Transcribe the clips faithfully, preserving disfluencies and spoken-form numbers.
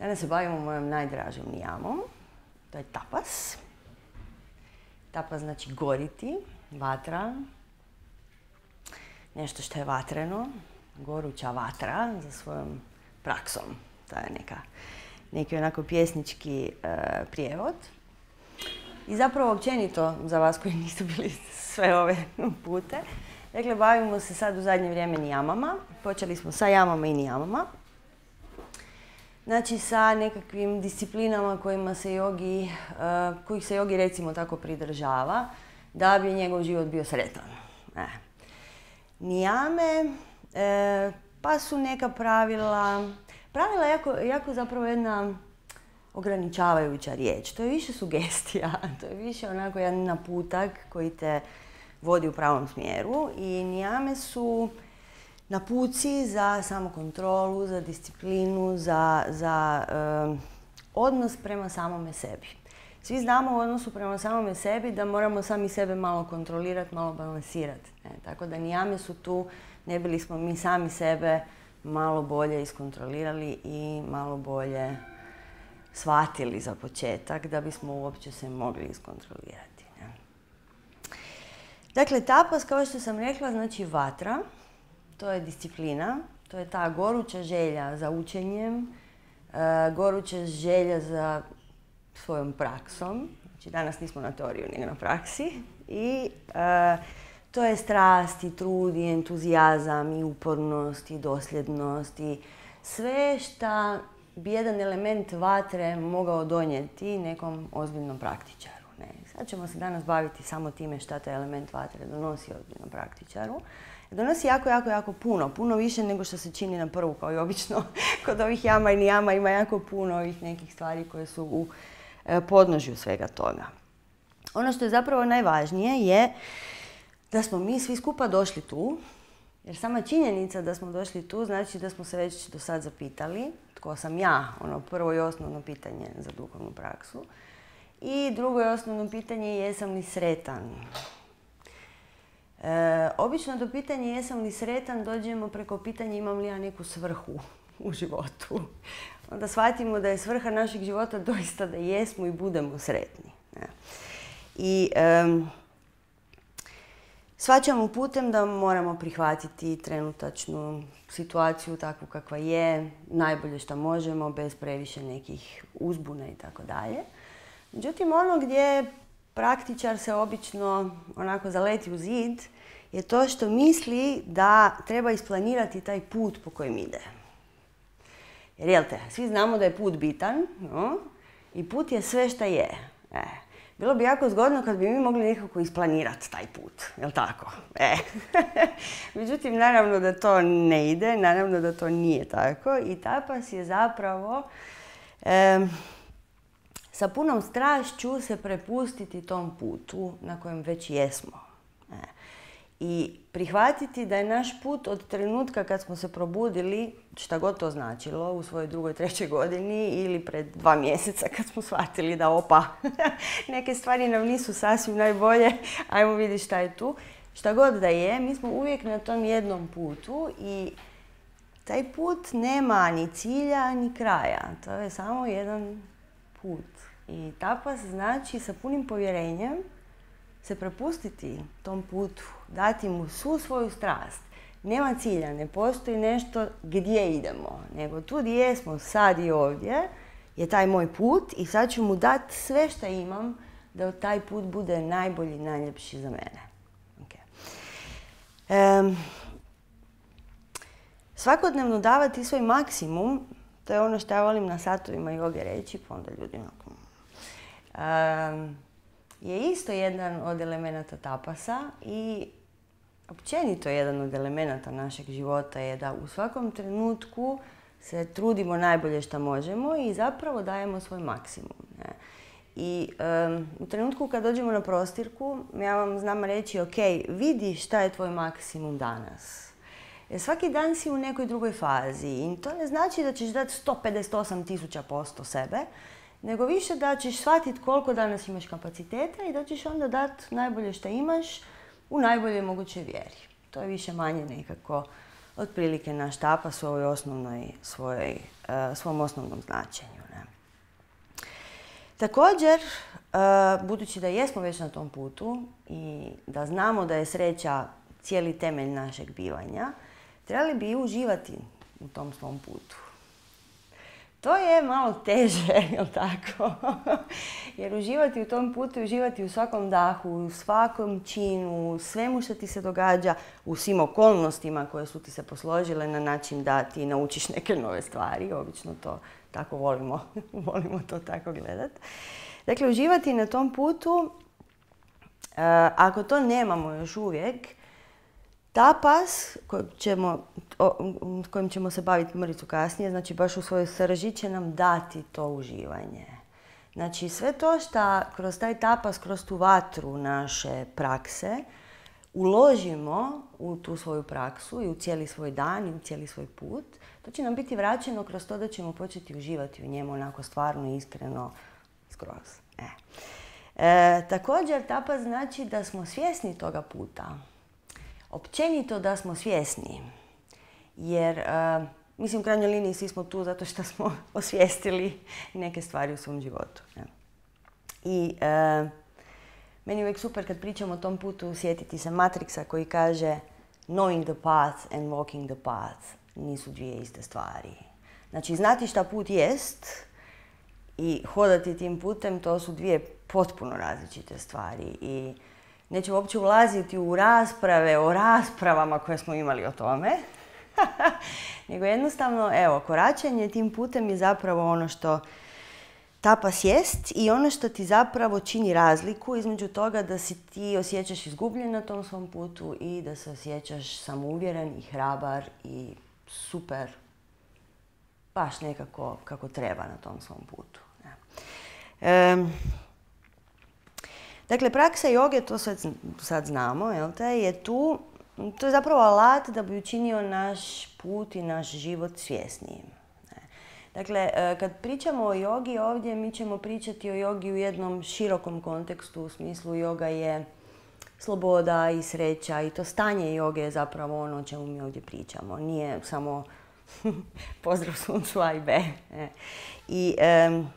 Danas se bavimo mojom najdražom nijamom. To je tapas. Tapas znači goriti, vatra. Nešto što je vatreno, goruća vatra za svojom praksom. To je neka, neki onako pjesnički e, prijevod. I zapravo općenito, za vas koji niste bili sve ove pute, dakle, bavimo se sad u zadnje vrijeme nijamama. Počeli smo sa jamama i nijamama. Znači, sa nekakvim disciplinama kojima se jogi, uh, kojih se jogi recimo tako pridržava, da bi njegov život bio sretan. E. Nijame, e, pa su neka pravila, pravila jako, jako zapravo jedna ograničavajuća riječ. To je više sugestija, to je više onako jedan naputak koji te vodi u pravom smjeru i nijame su napuci za samokontrolu, za disciplinu, za, za um, odnos prema samome sebi. Svi znamo u odnosu prema samome sebi da moramo sami sebe malo kontrolirati, malo balansirati. Ne? Tako da nijame su tu, ne bili smo mi sami sebe malo bolje iskontrolirali i malo bolje shvatili za početak da bismo uopće se mogli iskontrolirati. Ne? Dakle, tapas, kao što sam rekla, znači vatra. To je disciplina, to je ta goruća želja za učenjem, goruća želja za svojom praksom. Znači, danas nismo na teoriju, nego na praksi. I to je strast i trud i entuzijazam i upornost i dosljednost i sve što bi jedan element vatre mogao donijeti nekom ozbiljnom praktičaru. Ne. Sad ćemo se danas baviti samo time šta taj element vatre donosi ozbiljnom praktičaru. Donosi jako, jako, jako puno. Puno više nego što se čini na prvu, kao i obično. Kod ovih jama i nijama ima jako puno ovih nekih stvari koje su u podnožju svega toga. Ono što je zapravo najvažnije je da smo mi svi skupa došli tu, jer sama činjenica da smo došli tu znači da smo se već do sad zapitali tko sam ja, ono prvo i osnovno pitanje za duhovnu praksu. I drugo i osnovno pitanje je jesam li sretan. E, obično do pitanja jesam li sretan dođemo preko pitanja imam li ja neku svrhu u životu. Onda shvatimo da je svrha našeg života doista da jesmo i budemo sretni. Ne? I e, shvaćamo putem da moramo prihvatiti trenutačnu situaciju takvu kakva je, najbolje što možemo, bez previše nekih uzbuna i tako dalje. Međutim, ono gdje praktičar se obično onako zaleti u zid je to što misli da treba isplanirati taj put po kojem ide. Jer jel te, svi znamo da je put bitan, no? I put je sve šta je. E. Bilo bi jako zgodno kad bi mi mogli nekako isplanirati taj put, jel tako? E. Međutim, naravno da to ne ide, naravno da to nije tako i tapas je zapravo e, sa punom strašću se prepustiti tom putu na kojem već jesmo. E. I prihvatiti da je naš put od trenutka kad smo se probudili, šta god to značilo, u svojoj drugoj, trećoj godini ili pred dva mjeseca kad smo shvatili da opa, neke stvari nam nisu sasvim najbolje, ajmo vidjeti šta je tu. Šta god da je, mi smo uvijek na tom jednom putu i taj put nema ni cilja ni kraja. To je samo jedan put. I tapas znači sa punim povjerenjem se prepustiti tom putu, dati mu svu svoju strast. Nema cilja, ne postoji nešto gdje idemo, nego tu gdje jesmo sad i ovdje je taj moj put i sad ću mu dati sve što imam da taj put bude najbolji, najljepši za mene. Okay. Um, svakodnevno davati svoj maksimum, to je ono što ja volim na satovima joge reći, pa onda ljudi onako... Um, je isto jedan od elemenata tapasa i općenito jedan od elemenata našeg života je da u svakom trenutku se trudimo najbolje što možemo i zapravo dajemo svoj maksimum. Ne? I um, u trenutku kad dođemo na prostirku, ja vam znam reći, ok, vidi šta je tvoj maksimum danas. Jer svaki dan si u nekoj drugoj fazi i to ne znači da ćeš dati sto pedeset osam tisuća posto sebe, nego više da ćeš shvatiti koliko danas imaš kapaciteta i da ćeš onda dati najbolje što imaš u najbolje mogućoj vjeri. To je više manje nekako otprilike naš tapas u ovoj osnovnoj, svojoj, uh, svom osnovnom značenju. Ne? Također, uh, budući da jesmo već na tom putu i da znamo da je sreća cijeli temelj našeg bivanja, trebali bi i uživati u tom svom putu. To je malo teže, jel tako? Jer uživati u tom putu, uživati u svakom dahu, u svakom činu, u svemu što ti se događa, u svim okolnostima koje su ti se posložile na način da ti naučiš neke nove stvari. Obično to tako volimo, volimo to tako gledati. Dakle, uživati na tom putu, ako to nemamo još uvijek, tapas, kojim ćemo, o, kojim ćemo se baviti mrvicu kasnije, znači baš u svojoj srži će nam dati to uživanje. Znači sve to što kroz taj tapas, kroz tu vatru naše prakse, uložimo u tu svoju praksu i u cijeli svoj dan i u cijeli svoj put, to će nam biti vraćeno kroz to da ćemo početi uživati u njemu onako stvarno, iskreno, skroz. E. E, također, tapas znači da smo svjesni toga puta. Općenito da smo svjesni, jer, uh, mislim, u krajnjoj liniji svi smo tu zato što smo osvijestili neke stvari u svom životu. Ne? I uh, meni je uvijek super kad pričamo o tom putu sjetiti se Matrixa koji kaže knowing the path and walking the path nisu dvije iste stvari. Znači, znati šta put jest i hodati tim putem, to su dvije potpuno različite stvari. I nećemo uopće ulaziti u rasprave o raspravama koje smo imali o tome, nego jednostavno, evo, koračanje tim putem je zapravo ono što tapas jest i ono što ti zapravo čini razliku između toga da si ti osjećaš izgubljen na tom svom putu i da se osjećaš samouvjeren i hrabar i super, baš nekako kako treba na tom svom putu. E, Dakle, praksa joge, to sad, sad znamo, jel te, je tu, to je zapravo alat da bi učinio naš put i naš život svjesnijim. Dakle, kad pričamo o jogi ovdje, mi ćemo pričati o jogi u jednom širokom kontekstu, u smislu joga je sloboda i sreća i to stanje joge je zapravo ono o čemu mi ovdje pričamo. Nije samo pozdrav suncu A i B. I, um,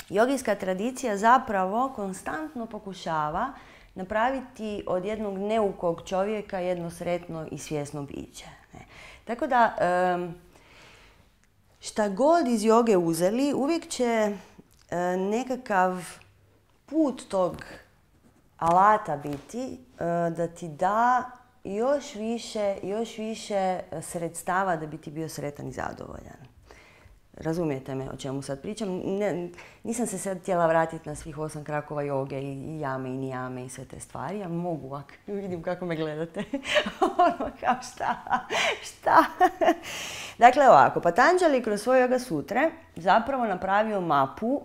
Jogijska tradicija zapravo konstantno pokušava napraviti od jednog neukog čovjeka jedno sretno i svjesno biće. Tako da, šta god iz joge uzeli, uvijek će nekakav put tog alata biti da ti da još više, još više sredstava da bi ti bio sretan i zadovoljan. Razumijete me o čemu sad pričam? Ne, nisam se sad htjela vratiti na svih osam krakova joge i, i jame i nijame i sve te stvari. Ja mogu, ako vidim kako me gledate. Ono kao šta? Šta? Dakle ovako, Patanjali kroz svoje Yoga Sutre zapravo napravio mapu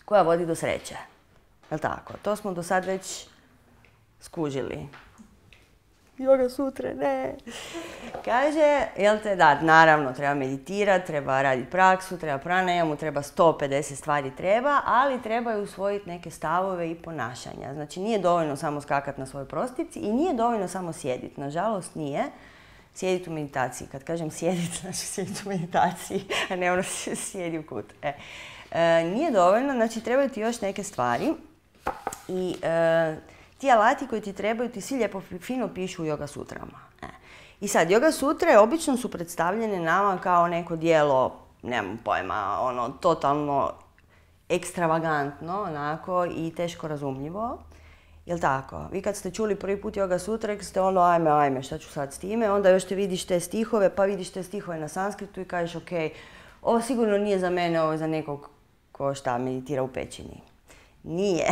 koja vodi do sreće. Jel' tako? To smo do sad već skužili. Yoga Sutre, ne. Kaže, jel te, da, naravno, treba meditirati, treba raditi praksu, treba pranajamu, treba sto pedeset stvari treba, ali trebaju usvojiti neke stavove i ponašanja. Znači, nije dovoljno samo skakati na svojoj prostici i nije dovoljno samo sjediti. Nažalost, nije. Sjediti u meditaciji. Kad kažem sjediti, znači sjediti u meditaciji, a ne ono sjedi u kut. E. E, nije dovoljno, znači trebaju ti još neke stvari i e, ti alati koji ti trebaju ti svi lijepo fino pišu u Yoga Sutrama. E. I sad, Yoga Sutre obično su predstavljene nama kao neko djelo, nemam pojma, ono, totalno ekstravagantno, onako, i teško razumljivo. Jel' tako? Vi kad ste čuli prvi put Yoga Sutra, rekli ste ono, ajme, ajme, šta ću sad s time? Onda još te vidiš te stihove, pa vidiš te stihove na sanskritu i kažeš, ok, ovo sigurno nije za mene, ovo je za nekog ko šta meditira u pećini. Nije.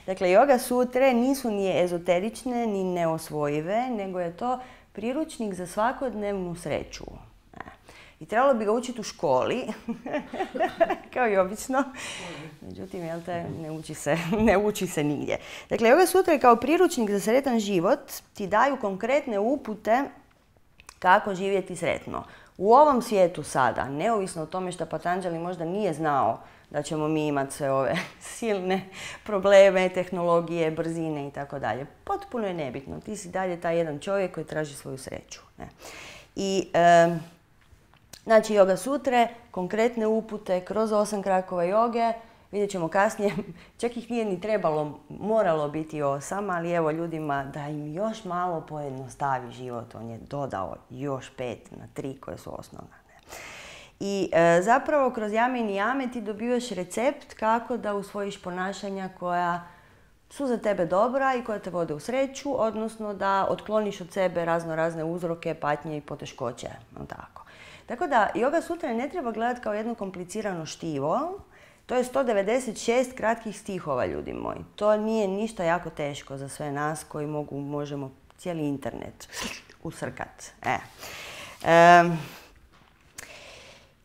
Dakle, Yoga Sutre nisu ni ezoterične, ni neosvojive, nego je to priručnik za svakodnevnu sreću. I trebalo bi ga učiti u školi, kao i obično. Međutim, jel te, ne uči se, ne uči se nigdje. Dakle, Yoga Sutra kao priručnik za sretan život ti daju konkretne upute kako živjeti sretno. U ovom svijetu sada, neovisno o tome što Patanjali možda nije znao da ćemo mi imati sve ove silne probleme, tehnologije, brzine i tako dalje. Potpuno je nebitno. Ti si dalje taj jedan čovjek koji traži svoju sreću. Ne? I, e, znači, Yoga sutre, konkretne upute kroz osam krakova joge, vidjet ćemo kasnije, čak ih nije ni trebalo, moralo biti osam, ali evo ljudima da im još malo pojednostavi život, on je dodao još pet na tri koje su osnovne. I e, zapravo kroz jame i nijame ti dobivaš recept kako da usvojiš ponašanja koja su za tebe dobra i koja te vode u sreću, odnosno da otkloniš od sebe razno razne uzroke, patnje i poteškoće. Tako. Tako da Yoga sutra ne treba gledati kao jedno komplicirano štivo. To je sto devedeset šest kratkih stihova, ljudi moji. To nije ništa jako teško za sve nas koji mogu, možemo cijeli internet usrkat. E. E,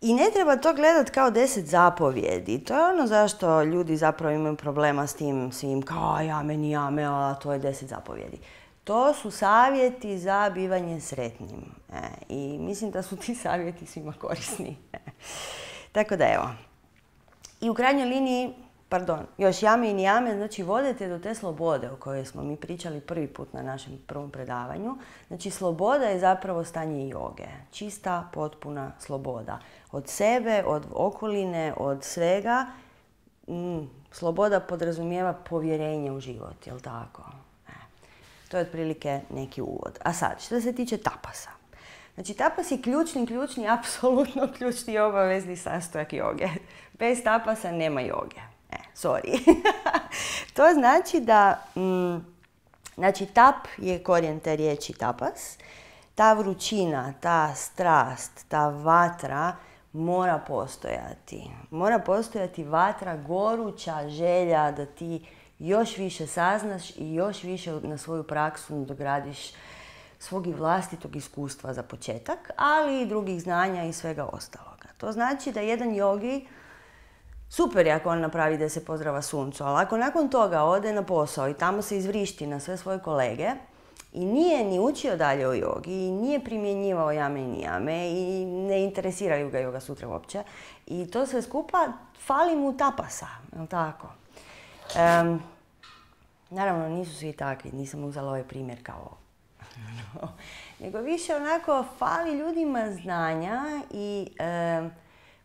I ne treba to gledati kao deset zapovjedi. To je ono zašto ljudi zapravo imaju problema s tim svim kao jame, nijame, a to je deset zapovjedi. To su savjeti za bivanje sretnim. E, I mislim da su ti savjeti svima korisni. E. Tako da evo. I u krajnjoj liniji, pardon, još jame i nijame, znači vodite do te slobode o kojoj smo mi pričali prvi put na našem prvom predavanju. Znači sloboda je zapravo stanje joge. Čista, potpuna sloboda. Od sebe, od okoline, od svega. Mm, sloboda podrazumijeva povjerenje u život, jel tako? E, to je otprilike neki uvod. A sad, što se tiče tapasa. Znači, tapas je ključni, ključni, apsolutno ključni obavezni sastojak joge. Bez tapasa nema joge. E, sorry. To znači da, mm, znači, tap je korijen te riječi tapas. Ta vrućina, ta strast, ta vatra mora postojati. Mora postojati vatra, goruća želja da ti još više saznaš i još više na svoju praksu dogradiš svog i vlastitog iskustva za početak, ali i drugih znanja i svega ostaloga. To znači da jedan jogi, super je ako on napravi da se pozdrava suncu, ali ako nakon toga ode na posao i tamo se izvrišti na sve svoje kolege i nije ni učio dalje o jogi, i nije primjenjivao jame i nijame i ne interesiraju ga Yoga sutra uopće, i to sve skupa fali mu tapasa, je li tako? Um, naravno, nisu svi takvi, nisam uzela ovaj primjer kao no. Nego više onako fali ljudima znanja i e,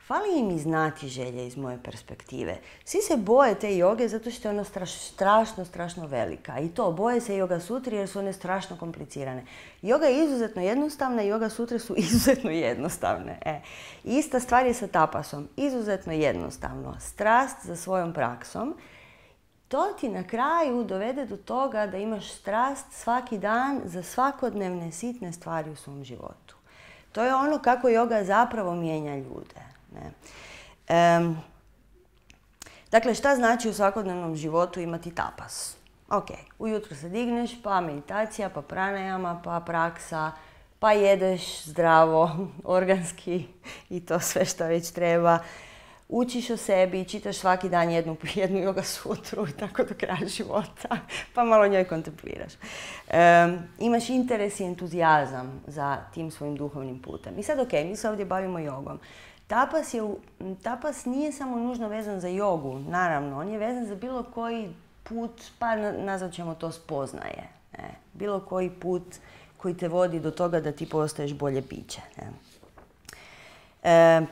fali im i znati želje iz moje perspektive. Svi se boje te joge zato što je ona straš, strašno, strašno velika. I to, boje se Yoga sutri jer su one strašno komplicirane. Joga je izuzetno jednostavna i Yoga sutre su izuzetno jednostavne. E. Ista stvar je sa tapasom. Izuzetno jednostavno. Strast za svojom praksom. To ti na kraju dovede do toga da imaš strast svaki dan za svakodnevne sitne stvari u svom životu. To je ono kako joga zapravo mijenja ljude. Ne? Um, dakle, šta znači u svakodnevnom životu imati tapas? Ok, ujutro se digneš, pa meditacija, pa pranayama, pa praksa, pa jedeš zdravo, organski i to sve što već treba. Učiš o sebi, čitaš svaki dan jednu, jednu Yoga sutru i tako do kraja života, pa malo njoj kontempliraš. Um, imaš interes i entuzijazam za tim svojim duhovnim putem. I sad ok, mi se ovdje bavimo jogom. Tapas, je, tapas nije samo nužno vezan za jogu, naravno, on je vezan za bilo koji put, pa nazvat ćemo to spoznaje. Ne? Bilo koji put koji te vodi do toga da ti postaješ bolje biće. Ne? E,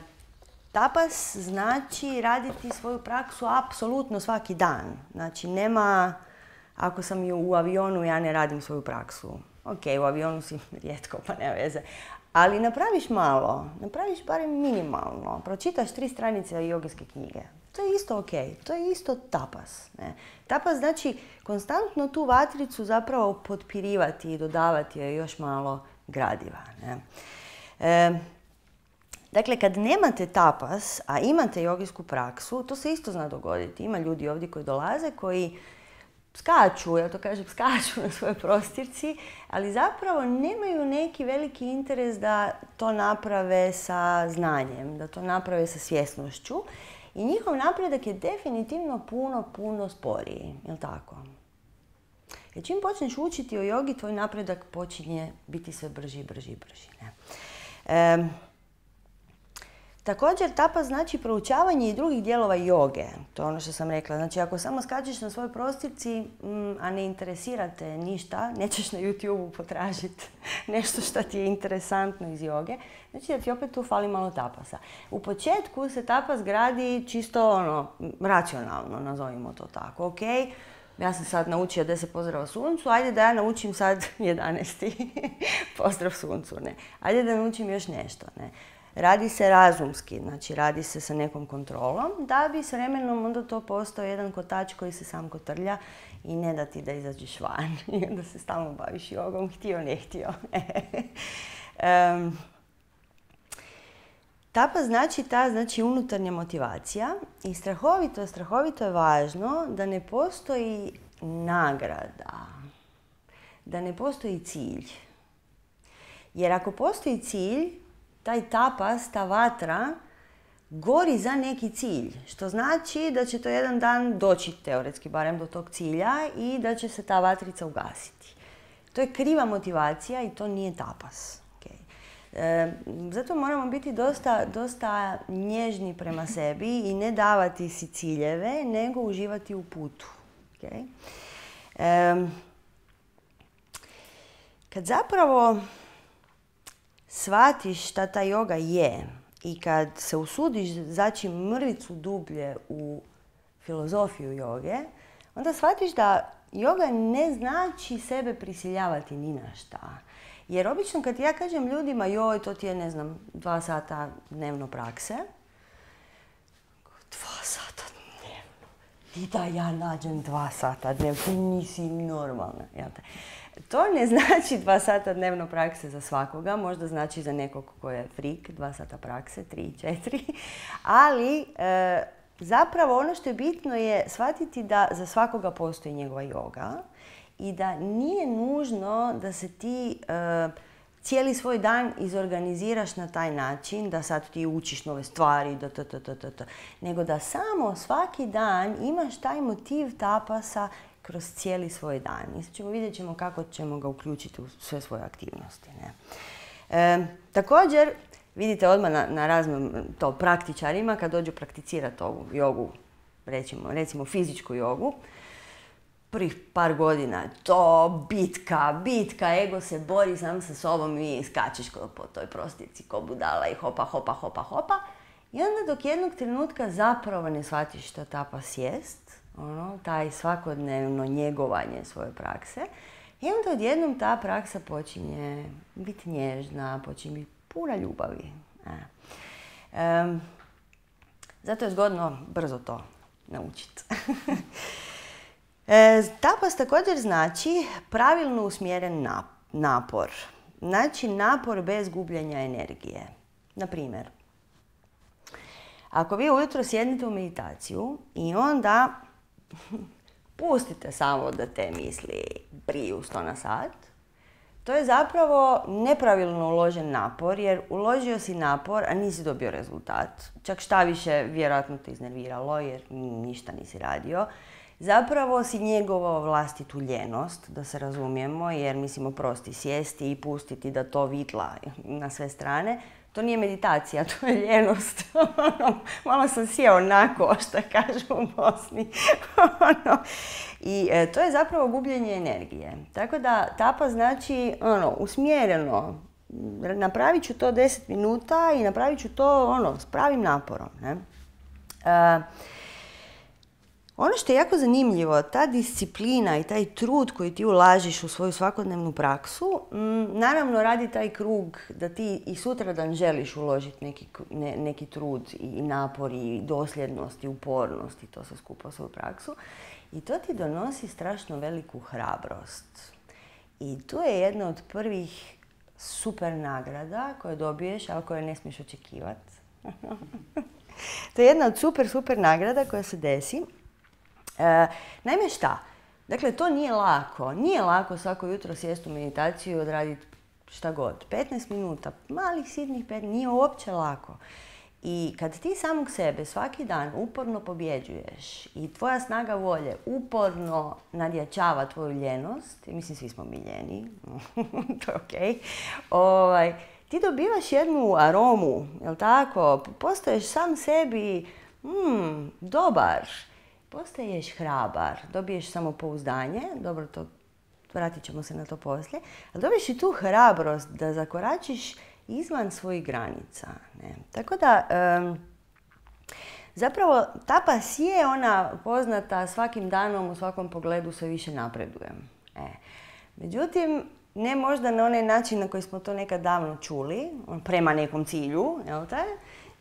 Tapas znači raditi svoju praksu apsolutno svaki dan. Znači nema, ako sam u avionu, ja ne radim svoju praksu. Ok, u avionu si rijetko, pa nema veze. Ali napraviš malo, napraviš barem minimalno. Pročitaš tri stranice jogijske knjige. To je isto ok, to je isto tapas. Ne? Tapas znači konstantno tu vatricu zapravo potpirivati i dodavati joj još malo gradiva. Ne? E, Dakle, kad nemate tapas, a imate jogijsku praksu, to se isto zna dogoditi. Ima ljudi ovdje koji dolaze, koji skaču, ja to kažem, skaču na svojoj prostirci, ali zapravo nemaju neki veliki interes da to naprave sa znanjem, da to naprave sa svjesnošću. I njihov napredak je definitivno puno, puno sporiji. Jel' tako? Jer čim počneš učiti o jogi, tvoj napredak počinje biti sve brži, brži, brži. Ne? E, Također, tapas znači proučavanje i drugih dijelova joge. To je ono što sam rekla. Znači, ako samo skačeš na svojoj prostirci, a ne interesirate ništa, nećeš na YouTube-u potražiti nešto što ti je interesantno iz joge, znači da ti opet tu fali malo tapasa. U početku se tapas gradi čisto ono, racionalno, nazovimo to tako. Ok, ja sam sad naučio deset pozdrava suncu, ajde da ja naučim sad jedanaesti pozdrav suncu. Ne. Ajde da naučim još nešto. Ne. Radi se razumski, znači radi se sa nekom kontrolom, da bi s vremenom onda to postao jedan kotač koji se sam kotrlja i ne da ti da izađeš van i onda se stalno baviš jogom, htio, ne htio. um, tapas znači ta znači unutarnja motivacija i strahovito, strahovito je važno da ne postoji nagrada, da ne postoji cilj. Jer ako postoji cilj, taj tapas, ta vatra, gori za neki cilj. Što znači da će to jedan dan doći, teoretski barem, do tog cilja i da će se ta vatrica ugasiti. To je kriva motivacija i to nije tapas. Okay. E, zato moramo biti dosta, dosta nježni prema sebi i ne davati si ciljeve, nego uživati u putu. Okay. E, kad zapravo shvatiš šta ta joga je i kad se usudiš zaći mrvicu dublje u filozofiju joge, onda shvatiš da joga ne znači sebe prisiljavati ni na šta. Jer obično kad ja kažem ljudima, joj, to ti je, ne znam, dva sata dnevno prakse, dva sata dnevno, i da ja nađem dva sata dnevno, ti nisi normalna, jel te? To ne znači dva sata dnevno prakse za svakoga, možda znači za nekog ko je frik, dva sata prakse, tri, četiri, ali e, zapravo ono što je bitno je shvatiti da za svakoga postoji njegova joga i da nije nužno da se ti e, cijeli svoj dan izorganiziraš na taj način, da sad ti učiš nove stvari, da, da, da, da, da, nego da samo svaki dan imaš taj motiv tapasa kroz cijeli svoj dan. I sad ćemo vidjet ćemo kako ćemo ga uključiti u sve svoje aktivnosti. Ne? E, također, vidite odmah na, na raznim to praktičarima kad dođu prakticirati ovu jogu, recimo, recimo fizičku jogu, prvih par godina to bitka, bitka, ego se bori sam sa sobom i skačeš po toj prostirci ko budala i hopa, hopa, hopa, hopa. I onda dok jednog trenutka zapravo ne shvatiš što tapas jest, ono, taj svakodnevno njegovanje svoje prakse, i onda odjednom ta praksa počinje biti nježna, počinje biti puna ljubavi. E. E, zato je zgodno brzo to naučiti. e, tapas također znači pravilno usmjeren napor. Znači napor bez gubljenja energije. Na primjer, ako vi ujutro sjednete u meditaciju i onda pustite samo da te misli briju sto na sat, to je zapravo nepravilno uložen napor, jer uložio si napor, a nisi dobio rezultat. Čak šta više, vjerojatno te iznerviralo, jer ništa nisi radio. Zapravo si njegovao vlastitu ljenost, da se razumijemo, jer mislimo prosti sjesti i pustiti da to vitla na sve strane. To nije meditacija, to je ljenost. Malo sam sjeo nako, što kažu u Bosni. I e, to je zapravo gubljenje energije. Tako da tapas znači ono, usmjereno. Napravit ću to deset minuta i napravit ću to ono, s pravim naporom. Ne? E, ono što je jako zanimljivo, ta disciplina i taj trud koji ti ulažiš u svoju svakodnevnu praksu, m, naravno radi taj krug da ti i sutradan želiš uložiti neki, ne, neki trud i napor i dosljednost i upornost i to se skupa u svoju praksu. I to ti donosi strašno veliku hrabrost. I tu je jedna od prvih super nagrada koje dobiješ, ali koje ne smiješ očekivati. To je jedna od super, super nagrada koja se desi. E, naime šta? Dakle, to nije lako. Nije lako svako jutro sjesti u meditaciju i odraditi šta god. petnaest minuta, malih sitnih pet, nije uopće lako. I kad ti samog sebe svaki dan uporno pobjeđuješ i tvoja snaga volje uporno nadjačava tvoju ljenost, i mislim svi smo mi ljeni, to je okej, ovaj, ti dobivaš jednu aromu, jel tako? Postaješ sam sebi mm, dobar, postaješ hrabar, dobiješ samopouzdanje, dobro, to, vratit ćemo se na to poslije, ali dobiješ i tu hrabrost da zakoračiš izvan svojih granica. Ne? Tako da, um, zapravo, tapas je ona poznata svakim danom, u svakom pogledu sve više napredujem. E. Međutim, ne možda na onaj način na koji smo to nekad davno čuli, prema nekom cilju, jel te?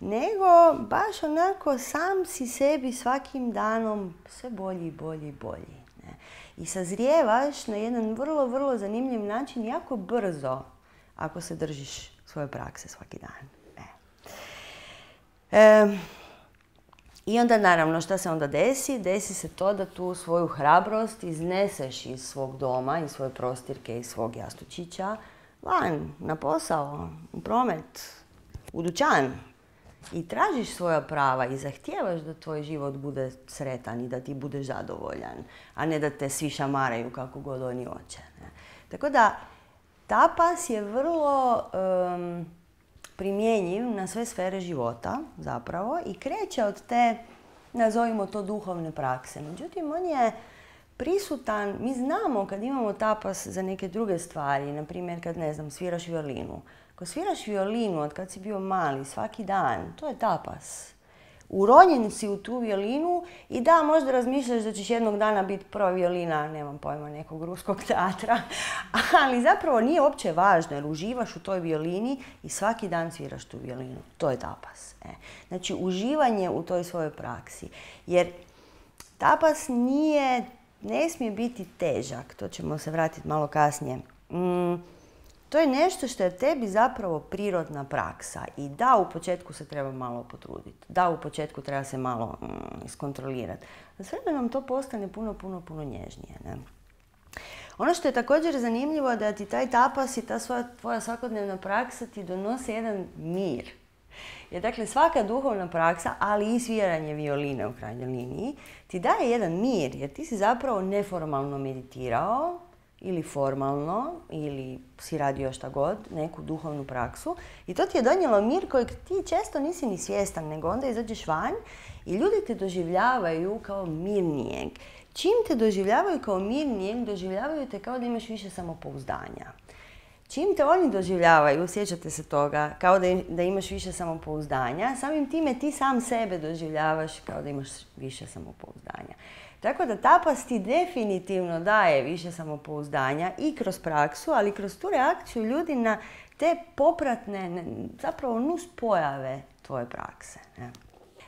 Nego baš onako sam si sebi svakim danom sve bolji, bolji, bolji. Ne? I sazrijevaš na jedan vrlo, vrlo zanimljiv način, jako brzo, ako se držiš svoje prakse svaki dan. E. E, I onda naravno šta se onda desi? Desi se to da tu svoju hrabrost izneseš iz svog doma, iz svoje prostirke, iz svog jastučića, van, na posao, u promet, u dućan. I tražiš svoja prava i zahtijevaš da tvoj život bude sretan i da ti budeš zadovoljan, a ne da te svi šamaraju kako god oni hoće. Ne? Tako da, tapas je vrlo um, primjenjiv na sve sfere života zapravo i kreće od te, nazovimo to, duhovne prakse. Međutim, on je prisutan, mi znamo kad imamo tapas za neke druge stvari, na primjer kad, ne znam, sviraš violinu. Ako sviraš violinu od kad si bio mali, svaki dan, to je tapas. Uronjen si u tu violinu i da, možda razmišljaš da ćeš jednog dana biti prva violina, nemam pojma, nekog ruskog teatra, ali zapravo nije uopće važno jer uživaš u toj violini i svaki dan sviraš tu violinu. To je tapas. E. Znači, uživanje u toj svojoj praksi. Jer tapas nije, ne smije biti težak, to ćemo se vratiti malo kasnije. Mm. To je nešto što je tebi zapravo prirodna praksa i da, u početku se treba malo potruditi, da, u početku treba se malo mm, iskontrolirati. S vremenom to postane puno, puno, puno nježnije. Ne? Ono što je također zanimljivo je da ti taj tapas i ta svoja, tvoja svakodnevna praksa ti donose jedan mir. Jer dakle svaka duhovna praksa, ali i sviranje violine u krajnjoj liniji, ti daje jedan mir jer ti si zapravo neformalno meditirao, ili formalno, ili si radio šta god, neku duhovnu praksu. I to ti je donijelo mir kojeg ti često nisi ni svjestan, nego onda izađeš van i ljudi te doživljavaju kao mirnijeg. Čim te doživljavaju kao mirnijeg, doživljavaju te kao da imaš više samopouzdanja. Čim te oni doživljavaju, sjećate se toga, kao da, da imaš više samopouzdanja, samim time ti sam sebe doživljavaš kao da imaš više samopouzdanja. Tako da tapas ti definitivno daje više samopouzdanja i kroz praksu, ali kroz tu reakciju ljudi na te popratne, zapravo nuspojave tvoje prakse. Ne?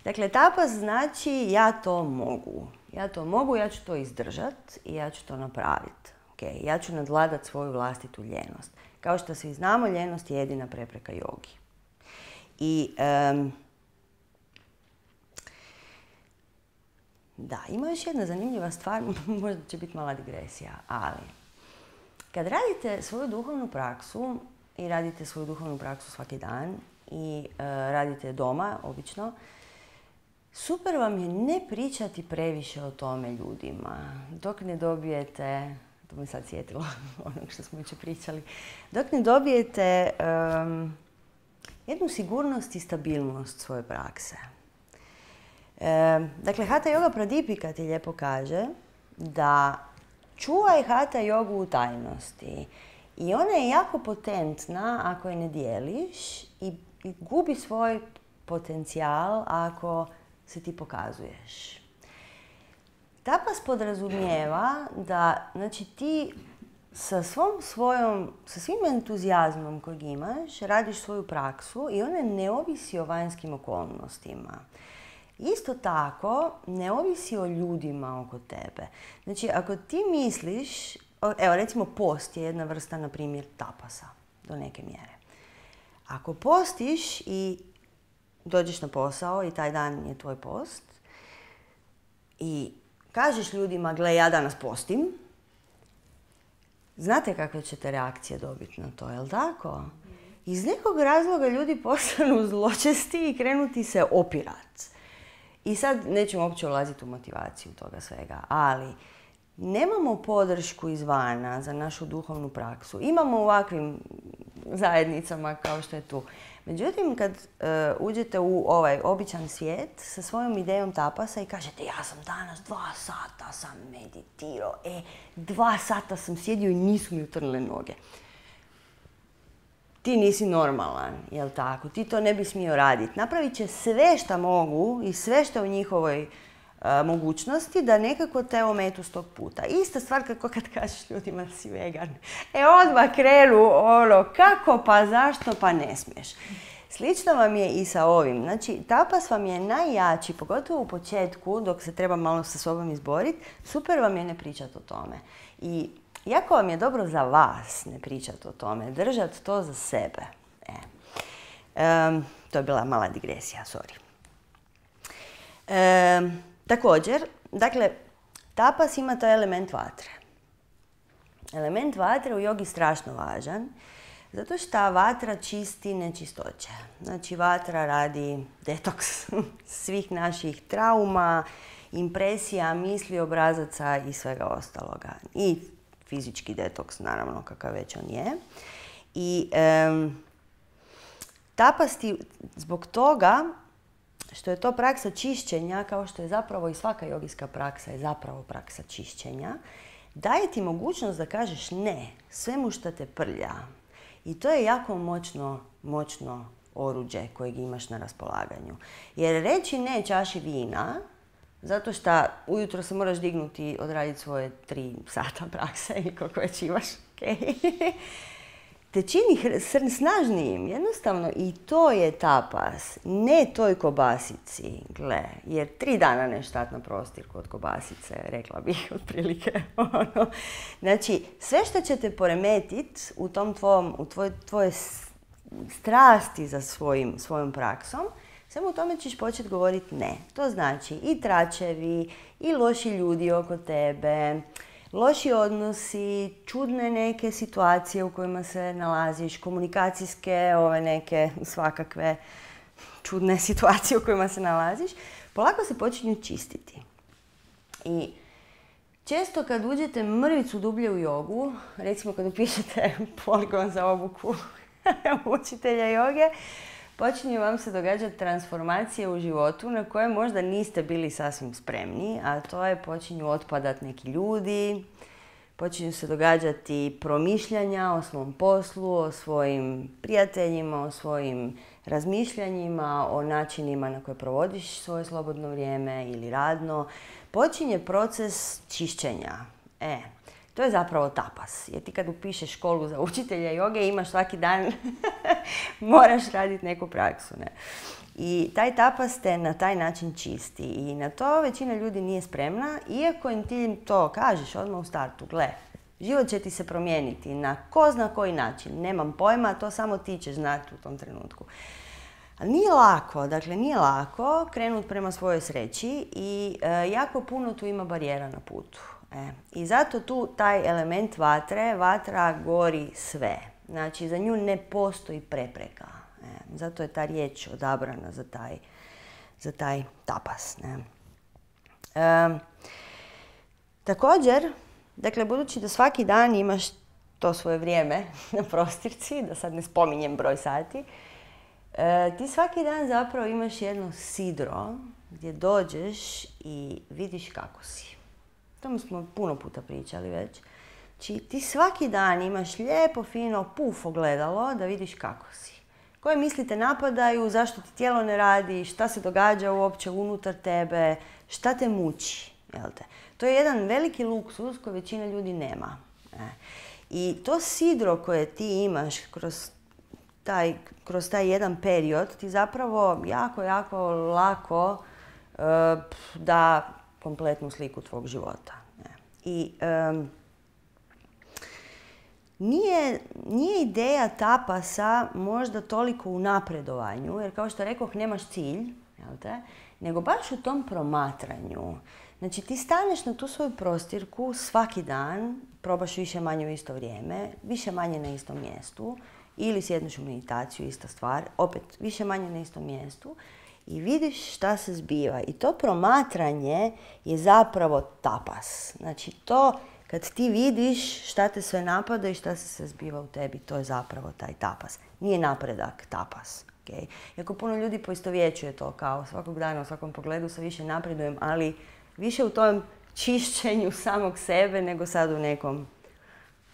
Dakle, tapas znači ja to mogu. Ja to mogu, ja ću to izdržati i ja ću to napraviti. Okay, ja ću nadvladati svoju vlastitu ljenost. Kao što svi znamo, ljenost je jedina prepreka jogi. I um, da, ima još jedna zanimljiva stvar, možda će biti mala digresija, ali kad radite svoju duhovnu praksu i radite svoju duhovnu praksu svaki dan i uh, radite doma, obično, super vam je ne pričati previše o tome ljudima, dok ne dobijete, to me sad sjetilo onog što smo jučer pričali, dok ne dobijete um, jednu sigurnost i stabilnost svoje prakse. E, dakle, Hatha Yoga Pradipika ti lijepo kaže da čuvaj Hatha Yogu u tajnosti. I ona je jako potentna ako je ne dijeliš i, i gubi svoj potencijal ako se ti pokazuješ. Tapas podrazumijeva da, znači, ti sa svom svojom, sa svim entuzijazmom kojeg imaš, radiš svoju praksu i ona ne ovisi o vanjskim okolnostima. Isto tako, ne ovisi o ljudima oko tebe. Znači, ako ti misliš, evo recimo post je jedna vrsta, na primjer, tapasa do neke mjere. Ako postiš i dođeš na posao i taj dan je tvoj post i kažeš ljudima, gle, ja danas postim, znate kakve ćete reakcije dobiti na to, jel tako? Iz nekog razloga ljudi postanu zločesti i krenuti se opirati. I sad nećemo uopće ulaziti u motivaciju toga svega, ali nemamo podršku izvana za našu duhovnu praksu. Imamo u ovakvim zajednicama kao što je tu. Međutim, kad uh, uđete u ovaj običan svijet sa svojom idejom tapasa i kažete ja sam danas dva sata sam meditirao, e, dva sata sam sjedio i nisu mi utrnule noge. Ti nisi normalan, jel tako? Ti to ne bi smio raditi. Napravit će sve što mogu i sve što je u njihovoj uh, mogućnosti da nekako te ometu s tog puta. Ista stvar kako kad kažeš ljudima da si vegan. E, odmah krenu ono, kako, pa zašto, pa ne smiješ. Slično vam je i sa ovim. Znači, tapas vam je najjači, pogotovo u početku, dok se treba malo sa sobom izboriti, super vam je ne pričati o tome. I jako vam je dobro za vas ne pričati o tome, držati to za sebe. E. Um, to je bila mala digresija, sorry. Um, također, dakle, tapas ima taj element vatre. Element vatre u jogi je strašno važan, zato što vatra čisti nečistoće. Znači, vatra radi detoks svih naših trauma, impresija, misli, obrazaca i svega ostaloga. I fizički detoks, naravno, kakav već on je. I um, tapas ti zbog toga što je to praksa čišćenja, kao što je zapravo i svaka jogijska praksa je zapravo praksa čišćenja, daje ti mogućnost da kažeš ne svemu što te prlja. I to je jako moćno, moćno oruđe kojeg imaš na raspolaganju. Jer reći ne čaši vina, zato što ujutro se moraš dignuti i odraditi svoje tri sata prakse ili koliko već imaš, okay, te čini snažnijim. Jednostavno i to je tapas, ne toj kobasici, gle, jer tri dana ne štat na prostirku od kobasice, rekla bih otprilike. Ono. Znači, sve što će te poremetiti u tom tvom, u tvoj, tvoje strasti za svojim, svojom praksom, samo u tome ćeš početi govoriti ne. To znači i tračevi, i loši ljudi oko tebe, loši odnosi, čudne neke situacije u kojima se nalaziš, komunikacijske, ove neke svakakve čudne situacije u kojima se nalaziš, polako se počinju čistiti. I često kad uđete mrvicu dublje u jogu, recimo kad upišete poligon za obuku učitelja joge, počinju vam se događati transformacije u životu na koje možda niste bili sasvim spremni, a to je počinju otpadati neki ljudi, počinju se događati promišljanja o svom poslu, o svojim prijateljima, o svojim razmišljanjima, o načinima na koje provodiš svoje slobodno vrijeme ili radno. Počinje proces čišćenja. E, to je zapravo tapas. Jer ti kad upišeš školu za učitelja joge imaš svaki dan, moraš raditi neku praksu. Ne? I taj tapas te na taj način čisti. I na to većina ljudi nije spremna, iako im ti to kažeš odmah u startu. Gle, život će ti se promijeniti na ko zna koji način. Nemam pojma, to samo ti ćeš znati u tom trenutku. Ali nije lako, dakle nije lako krenuti prema svojoj sreći i e, jako puno tu ima barijera na putu. E, I zato tu taj element vatre, vatra gori sve. Znači za nju ne postoji prepreka. E, zato je ta riječ odabrana za taj, za taj tapas. Ne? E, također, dakle, budući da svaki dan imaš to svoje vrijeme na prostirci, da sad ne spominjem broj sati, e, ti svaki dan zapravo imaš jedno sidro gdje dođeš i vidiš kako si. O tome smo puno puta pričali već. Znači, ti svaki dan imaš lijepo, fino, puf ogledalo da vidiš kako si. Koje misli te napadaju, zašto ti tijelo ne radi, šta se događa uopće unutar tebe, šta te muči. Jel te? To je jedan veliki luksuz koji većina ljudi nema. E. I to sidro koje ti imaš kroz taj, kroz taj jedan period ti zapravo jako, jako lako e, da kompletnu sliku tvog života. E. I um, Nije, nije ideja tapasa možda toliko u napredovanju, jer kao što rekoh, nemaš cilj, jel te? Nego baš u tom promatranju. Znači, ti staneš na tu svoju prostirku svaki dan, probaš više manje u isto vrijeme, više manje na istom mjestu, ili sjedneš u meditaciju, ista stvar, opet više manje na istom mjestu i vidiš šta se zbiva. I to promatranje je zapravo tapas. Znači, to kad ti vidiš šta te sve napada i šta se sve zbiva u tebi, to je zapravo taj tapas. Nije napredak tapas. Okay? Iako puno ljudi poistovjećuje to kao svakog dana, u svakom pogledu se više napredujem, ali više u tom čišćenju samog sebe nego sad u nekom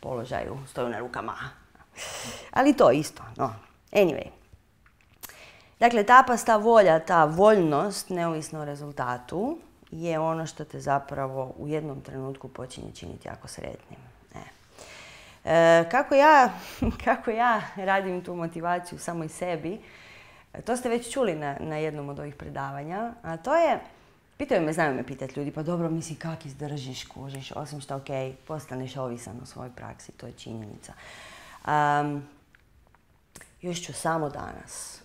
položaju, stoju na rukama. Ali to isto, no. Anyway. Dakle, tapas, ta volja, ta voljnost, neovisno o rezultatu, je ono što te zapravo u jednom trenutku počinje činiti jako sretnim. E. E, kako, ja, kako ja radim tu motivaciju samo i sebi, to ste već čuli na, na jednom od ovih predavanja, a to je, pitaju me, znaju me pitati ljudi, pa dobro, misli kak izdržiš, kužiš, osim što, ok, postaneš ovisan u svojoj praksi, to je činjenica. Um, još ću samo danas.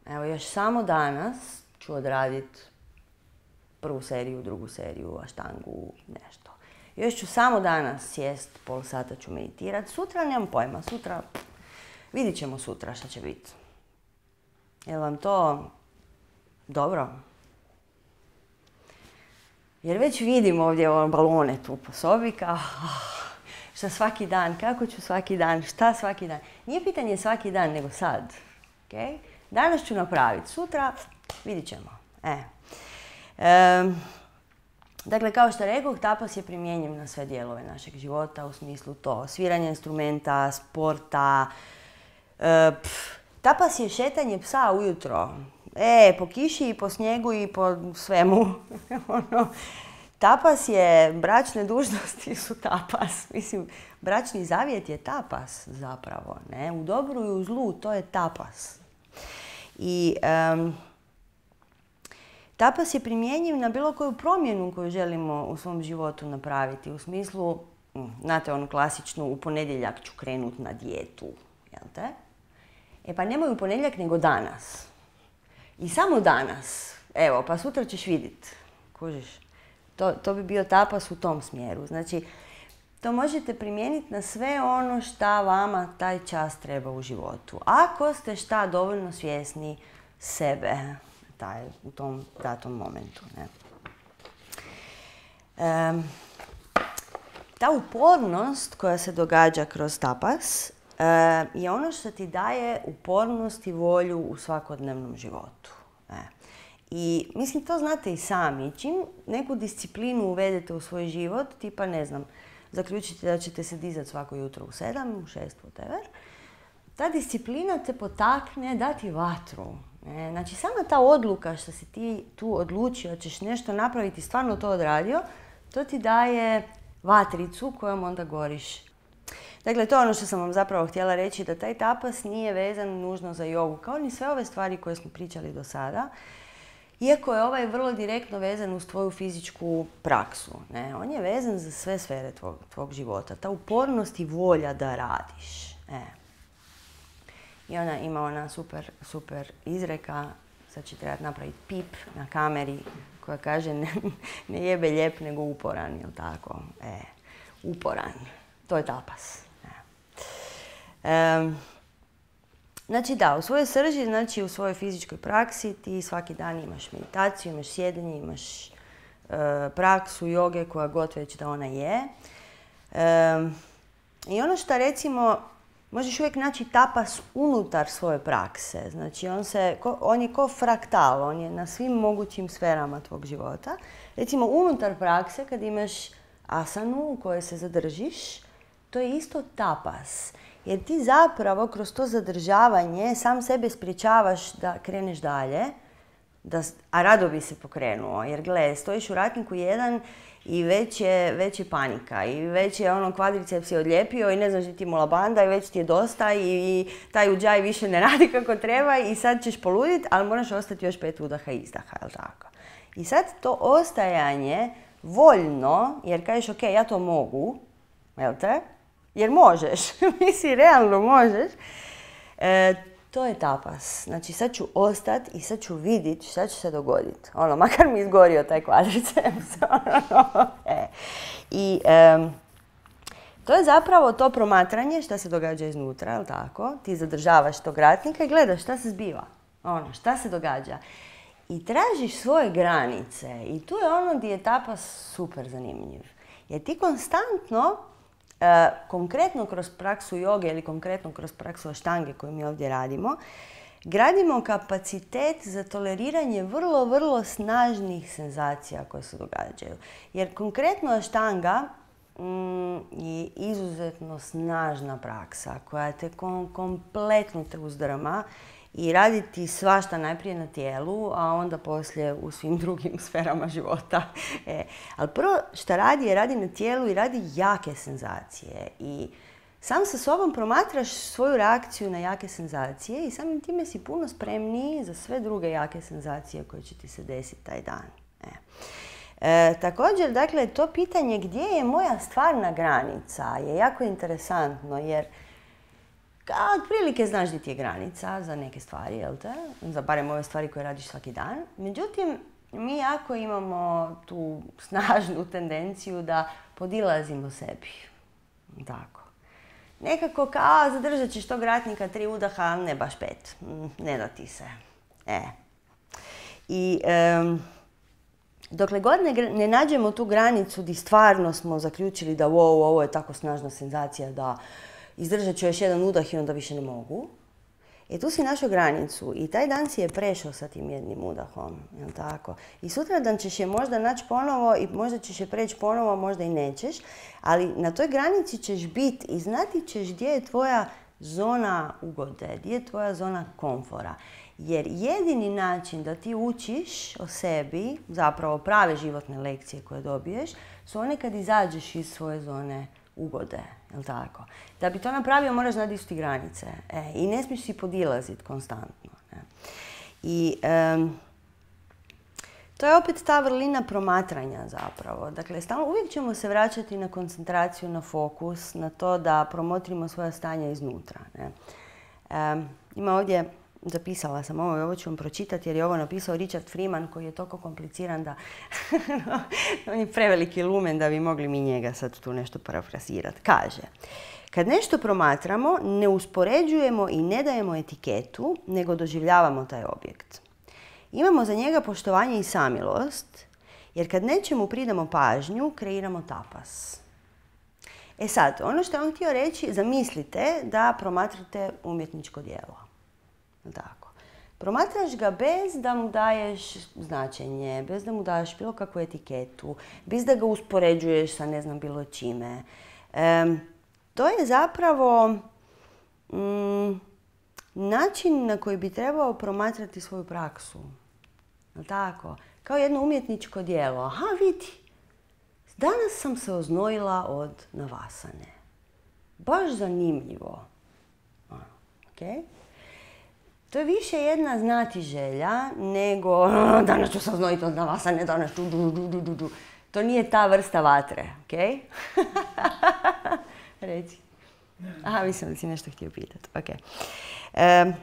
Evo, još samo danas ću odraditi prvu seriju, drugu seriju, aštangu, nešto. Još ću samo danas sjest, pol sata ću meditirati. Sutra nemam pojma, sutra, vidit ćemo sutra šta će biti. Je li vam to dobro? Jer već vidim ovdje ove balone tu po sobi, kao šta svaki dan, kako ću svaki dan, šta svaki dan. Nije pitanje svaki dan, nego sad. Okay? Danas ću napraviti, sutra vidit ćemo. E. E, dakle, kao što rekoh, tapas je primjenjiv na sve dijelove našeg života, u smislu to sviranje instrumenta, sporta. E, pf, tapas je šetanje psa ujutro. E, po kiši i po snijegu i po svemu. ono, tapas je, bračne dužnosti su tapas. Mislim, bračni zavjet je tapas zapravo. Ne? U dobru i u zlu to je tapas. I um, tapas je primjenjiv na bilo koju promjenu koju želimo u svom životu napraviti. U smislu, znate onu klasičnu, u ponedjeljak ću krenut na dijetu. Jel te? E pa nemoj u ponedjeljak nego danas. I samo danas. Evo, pa sutra ćeš vidjeti. Kužiš? To, to bi bio tapas u tom smjeru. Znači, to možete primijeniti na sve ono šta vama taj čas treba u životu. Ako ste šta dovoljno svjesni sebe taj, u tom datom momentu. Ne? E, ta upornost koja se događa kroz tapas e, je ono što ti daje upornost i volju u svakodnevnom životu. E. I mislim, to znate i sami. Čim neku disciplinu uvedete u svoj život, tipa ne znam, zaključite da ćete se dizati svako jutro u sedam, u šest, whatever, ta disciplina te potakne dati vatru. E, znači, sama ta odluka što si ti tu odlučio, ćeš nešto napraviti, stvarno to odradio, to ti daje vatricu kojom onda goriš. Dakle, to je ono što sam vam zapravo htjela reći, da taj tapas nije vezan nužno za jogu, kao ni sve ove stvari koje smo pričali do sada. Iako je ovaj vrlo direktno vezan uz tvoju fizičku praksu. Ne? On je vezan za sve sfere tvog, tvog života. Ta upornost i volja da radiš. E. I ona ima ona super, super izreka, sad će trebati napraviti pip na kameri, koja kaže ne, ne jebe lijep nego uporan, jel tako? E, uporan. To je tapas. E. E, Znači da, u svojoj srži, znači u svojoj fizičkoj praksi ti svaki dan imaš meditaciju, imaš sjedenje, imaš e, praksu joge koja god već da ona je. E, I ono što recimo, možeš uvijek naći tapas unutar svoje prakse. Znači on, se, ko, on je ko fraktal, on je na svim mogućim sferama tvog života. Recimo unutar prakse kad imaš asanu u kojoj se zadržiš, to je isto tapas. Jer ti zapravo kroz to zadržavanje sam sebe spriječavaš da kreneš dalje, da, a rado bi se pokrenuo. Jer gle, stojiš u ratniku jedan i već je, već je panika i već je ono kvadriceps je odlijepio i ne znaš ti mula banda i već ti je dosta i, i taj uđaj više ne radi kako treba i sad ćeš poluditi, ali moraš ostati još pet udaha i izdaha, jel tako? I sad to ostajanje voljno, jer kažeš ok, ja to mogu, jel te? Jer možeš, misli realno možeš, e, to je tapas. Znači sad ću ostati i sad ću vidjeti šta će se dogoditi. Ono, makar mi izgorio taj kvadriceps. ono, e. I e, to je zapravo to promatranje šta se događa iznutra, jel tako? Ti zadržavaš tog ratnika i gledaš šta se zbiva. Ono, šta se događa. I tražiš svoje granice. I tu je ono gdje je tapas super zanimljiv. Jer ti konstantno, e, konkretno kroz praksu joge ili konkretno kroz praksu aštange koju mi ovdje radimo, gradimo kapacitet za toleriranje vrlo, vrlo snažnih senzacija koje se događaju. Jer konkretno aštanga mm, je izuzetno snažna praksa koja te kom, kompletno te uzdrma i raditi svašta najprije na tijelu, a onda poslije u svim drugim sferama života. E, ali prvo što radi je radi na tijelu i radi jake senzacije. I sam sa sobom promatraš svoju reakciju na jake senzacije i samim time si puno spremniji za sve druge jake senzacije koje će ti se desiti taj dan. E. E, također, dakle, to pitanje gdje je moja stvarna granica je jako interesantno jer otprilike znaš gdje ti je granica za neke stvari, jel te? Za barem ove stvari koje radiš svaki dan. Međutim, mi jako imamo tu snažnu tendenciju da podilazimo sebi. Tako. Nekako kao zadržat ćeš tog ratnika tri udaha, ne baš pet. Ne da ti se. E. I um, dokle god ne, ne nađemo tu granicu gdje stvarno smo zaključili da wow, ovo je tako snažna senzacija da izdržat ću još jedan udah i onda više ne mogu. E tu si našao granicu i taj dan si je prešao sa tim jednim udahom, jel tako? I sutradan ćeš je možda naći ponovo i možda ćeš je preći ponovo, možda i nećeš, ali na toj granici ćeš biti i znati ćeš gdje je tvoja zona ugode, gdje je tvoja zona komfora. Jer jedini način da ti učiš o sebi, zapravo prave životne lekcije koje dobiješ, su one kad izađeš iz svoje zone ugode, jel tako? Da bi to napravio moraš znati gdje su ti granice. E, I ne smiješ si podilaziti konstantno. Ne? I um, to je opet ta vrlina promatranja zapravo. Dakle, stalno uvijek ćemo se vraćati na koncentraciju, na fokus, na to da promotrimo svoja stanja iznutra. Ne? Um, ima ovdje, zapisala sam ovo i ovo ću vam pročitati jer je ovo napisao Richard Freeman koji je toliko kompliciran da on je preveliki lumen da bi mogli mi njega sad tu nešto parafrazirati. Kaže, kad nešto promatramo, ne uspoređujemo i ne dajemo etiketu, nego doživljavamo taj objekt. Imamo za njega poštovanje i samilost, jer kad nečemu pridamo pažnju, kreiramo tapas. E sad, ono što je on htio reći, zamislite da promatrate umjetničko djelo. Tako. Promatraš ga bez da mu daješ značenje, bez da mu daješ bilo kakvu etiketu, bez da ga uspoređuješ sa ne znam bilo čime. E, to je zapravo mm, način na koji bi trebao promatrati svoju praksu. Tako? Kao jedno umjetničko djelo. Aha, vidi, danas sam se oznojila od navasane. Baš zanimljivo. Okay? To je više jedna znatiželja nego danas ću se oznojiti od navasane, danas ću du, du, du, du, du. To nije ta vrsta vatre, ok? Reci. Aha, mislim da si nešto htio pitati. Okay. E,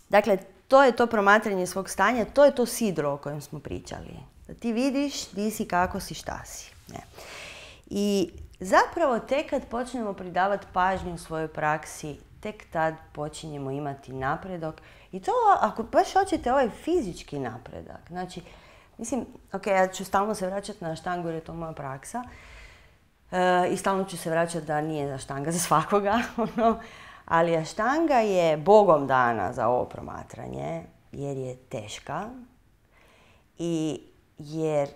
dakle, to je to promatranje svog stanja, to je to sidro o kojem smo pričali. Da ti vidiš di si, kako si, šta si. Ne. I zapravo tek kad počnemo pridavati pažnju u svojoj praksi, tek tad počinjemo imati napredak. I to, ako baš hoćete, ovaj fizički napredak. Znači, mislim, ok, ja ću stalno se vraćati na aštangu jer je to moja praksa. E, I stalno ću se vraćati da nije aštanga za svakoga. Ono. Ali aštanga je bogom dana za ovo promatranje jer je teška. I jer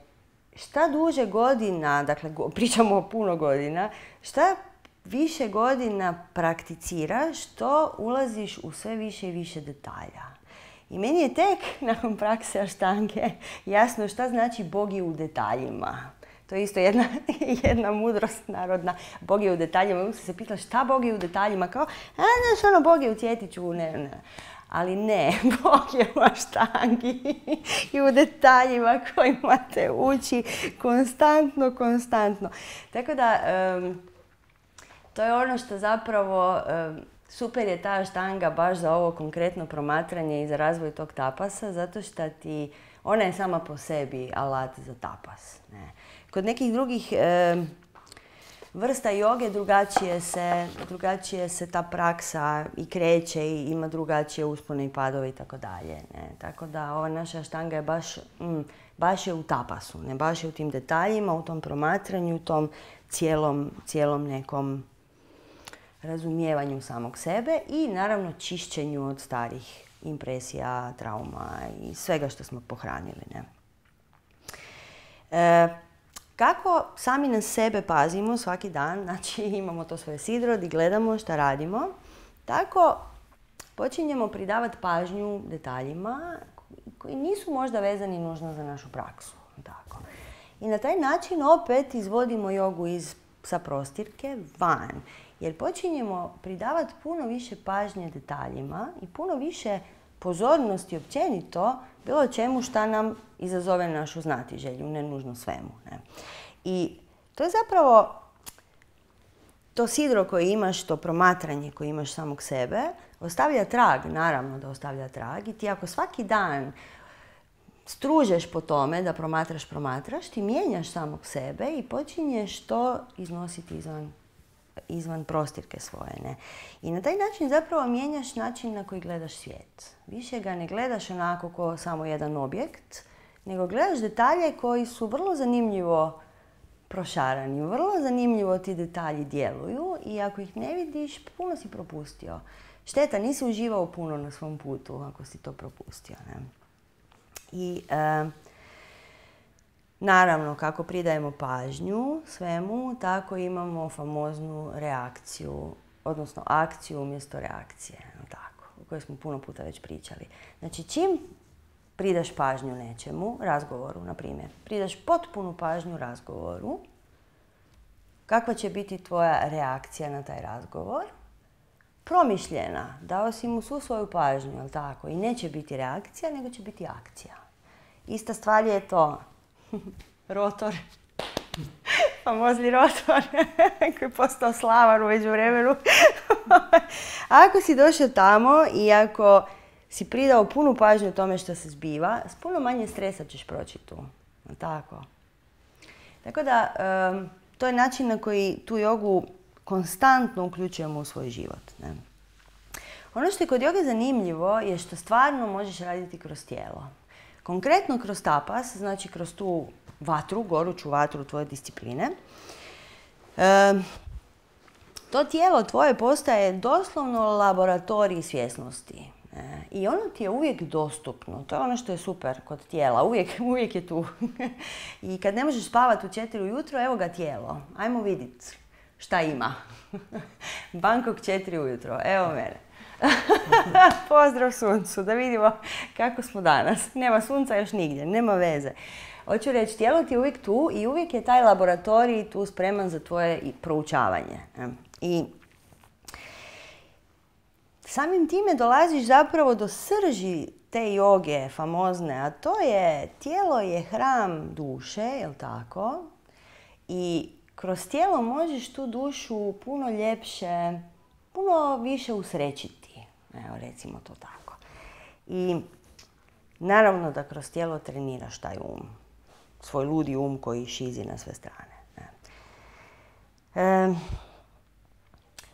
šta duže godina, dakle pričamo o puno godina, šta više godina prakticiraš, to ulaziš u sve više i više detalja. I meni je tek nakon prakse aštange jasno šta znači Bog je u detaljima. To je isto jedna, jedna mudrost narodna. Bog je u detaljima. Uvijek se pitala šta Bog je u detaljima. Kao, a znaš ono, Bog je u cvjetiću. Ne, ne. Ali ne, Bog je u aštangi i u detaljima kojima te uči konstantno, konstantno. Tako da, um, to je ono što zapravo, um, super je ta aštanga baš za ovo konkretno promatranje i za razvoj tog tapasa, zato što ti, ona je sama po sebi alat za tapas. Ne. Kod nekih drugih um, vrsta joge drugačije se, drugačije se ta praksa i kreće i ima drugačije uspone i padove i tako dalje. Tako da ova naša Ashtanga je baš, mm, baš je u tapasu, ne baš je u tim detaljima, u tom promatranju, u tom cijelom, cijelom nekom razumijevanju samog sebe i naravno čišćenju od starih impresija, trauma i svega što smo pohranili. Ne? E, kako sami na sebe pazimo svaki dan, znači imamo to svoje sidro gdje gledamo šta radimo, tako počinjemo pridavati pažnju detaljima koji nisu možda vezani nužno za našu praksu. Tako. I na taj način opet izvodimo jogu iz, sa prostirke van. Jer počinjemo pridavati puno više pažnje detaljima i puno više pozornosti općenito bilo čemu šta nam izazove našu znatiželju, ne nužno svemu. Ne? I to je zapravo to sidro koje imaš, to promatranje koje imaš samog sebe, ostavlja trag, naravno da ostavlja trag. I ti ako svaki dan stružeš po tome da promatraš, promatraš, ti mijenjaš samog sebe i počinješ to iznositi izvan izvan prostirke svoje. Ne? I na taj način zapravo mijenjaš način na koji gledaš svijet. Više ga ne gledaš onako kao samo jedan objekt, nego gledaš detalje koji su vrlo zanimljivo prošarani. Vrlo zanimljivo ti detalji djeluju i ako ih ne vidiš, puno si propustio. Šteta, nisi uživao puno na svom putu ako si to propustio. Ne? I e, naravno, kako pridajemo pažnju svemu, tako imamo famoznu reakciju, odnosno akciju umjesto reakcije, tako, o kojoj smo puno puta već pričali. Znači, čim pridaš pažnju nečemu, razgovoru, na primjer, pridaš potpunu pažnju razgovoru, kakva će biti tvoja reakcija na taj razgovor? Promišljena, dao si mu svu svoju pažnju, jel tako? I neće biti reakcija, nego će biti akcija. Ista stvar je to. Rotor. Famozni rotor koji je postao slavan u međuvremenu. Ako si došao tamo i ako si pridao punu pažnju tome što se zbiva, s puno manje stresa ćeš proći tu. Tako. Tako da, um, to je način na koji tu jogu konstantno uključujemo u svoj život. Ne? Ono što je kod joge zanimljivo je što stvarno možeš raditi kroz tijelo. Konkretno kroz tapas, znači kroz tu vatru, goruću vatru tvoje discipline, e, to tijelo tvoje postaje doslovno laboratorij svjesnosti. E, I ono ti je uvijek dostupno. To je ono što je super kod tijela. Uvijek, uvijek je tu. I kad ne možeš spavati u četiri ujutro, evo ga tijelo. Ajmo vidjeti šta ima. Bangkok četiri ujutro. Evo mene. Pozdrav suncu, da vidimo kako smo danas. Nema sunca još nigdje, nema veze. Hoću reći, tijelo ti je uvijek tu i uvijek je taj laboratorij tu spreman za tvoje proučavanje. I samim time dolaziš zapravo do srži te joge famozne, a to je tijelo je hram duše, jel tako? I kroz tijelo možeš tu dušu puno ljepše, puno više usrećiti. Evo, recimo to tako. I naravno da kroz tijelo treniraš taj um. Svoj ludi um koji šizi na sve strane. E,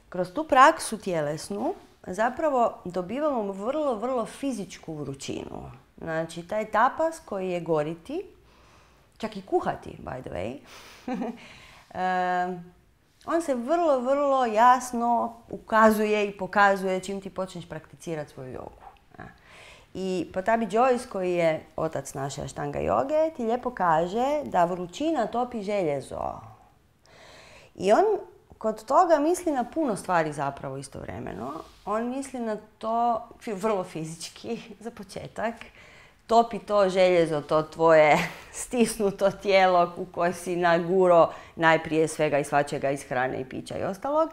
kroz tu praksu tjelesnu zapravo dobivamo vrlo, vrlo fizičku vrućinu. Znači, taj tapas koji je goriti, čak i kuhati, by the way, e, on se vrlo, vrlo jasno ukazuje i pokazuje čim ti počneš prakticirati svoju jogu. I Pattabhi Jois, koji je otac naše Ashtanga joge, ti lijepo kaže da vrućina topi željezo. I on kod toga misli na puno stvari zapravo istovremeno. On misli na to vrlo fizički, za početak. Topi to željezo, to tvoje stisnuto tijelo u koje si naguro najprije svega i svačega iz hrane i pića i ostalog.